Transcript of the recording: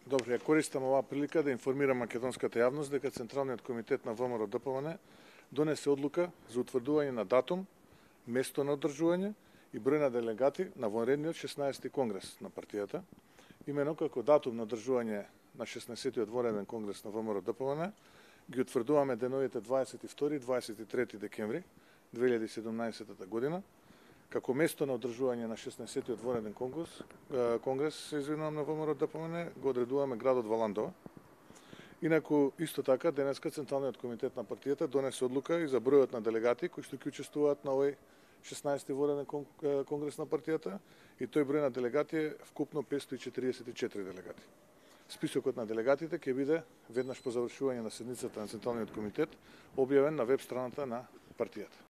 Добро, ја користам оваа прилика да информирам македонската јавност дека Централниот комитет на ВМРО-ДПМН донесе одлука за утврдување на датум, место на одржување и број на делегати на вонредниот 16-ти конгрес на партијата. Имено како датум на одржување на 16-тиот вонреден конгрес на ВМРО-ДПМН ги утврдуваме деновите 22 и 23 декември 2017 година. Како место на одржување на 16-тиот вонреден конгрес на ВМРО-ДПМН го одредуваме градот Валандова. Инаку, исто така, денеска Централниот комитет на партијата донесе одлука и за бројот на делегати кои што ќе учествуваат на овој 16-ти вонреден конгрес на партијата, и тој број на делегати е вкупно 544 делегати. Списокот на делегатите ќе биде веднаш по завршување на седницата на Централниот комитет објавен на веб страната на партијата.